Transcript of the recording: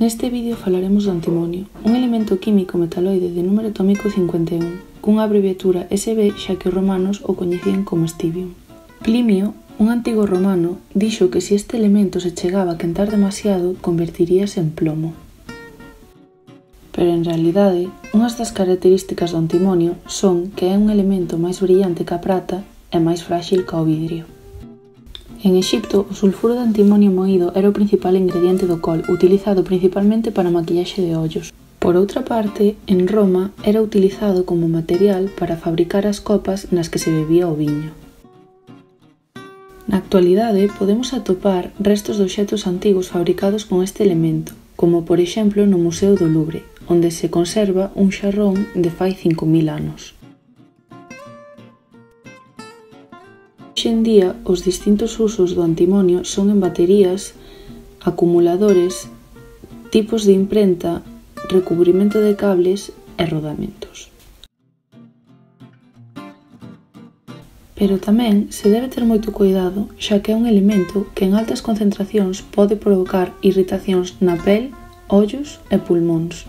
Neste vídeo falaremos do antimonio, un elemento químico metaloide de número atómico 51, cunha abreviatura Sb xa que os romanos o coñecían como estibium. Plinio, un antigo romano, dixo que se este elemento se chegaba a quentar demasiado, convertiríase en plomo. Pero en realidade, unhas das características do antimonio son que é un elemento máis brillante que a prata e máis frágil que o vidrio. En Exipto, o sulfuro de antimonio moído era o principal ingrediente do col, utilizado principalmente para maquillaxe de ollos. Por outra parte, en Roma era utilizado como material para fabricar as copas nas que se bebía o viño. Na actualidade, podemos atopar restos de obxectos antigos fabricados con este elemento, como por exemplo no Museo do Louvre, onde se conserva un xarrón de fai 5000 anos. Hoxe en día, os distintos usos do antimonio son en baterías, acumuladores, tipos de imprenta, recubrimento de cables e rodamentos. Pero tamén se debe ter moito cuidado, xa que é un elemento que en altas concentracións pode provocar irritacións na pel, ollos e pulmóns.